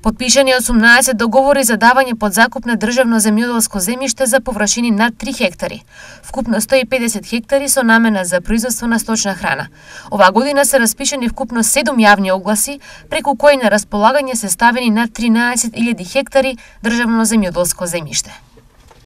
Подпишани 18 договори за давање под закуп на државно земјоделско земјиште за површини над 3 хектари. Вкупно 150 хектари со намена за производство на сточна храна. Оваа година се распишани вкупно 7 јавни огласи, преку кои на располагање се ставени над 13.000 хектари државно земјоделско земјиште.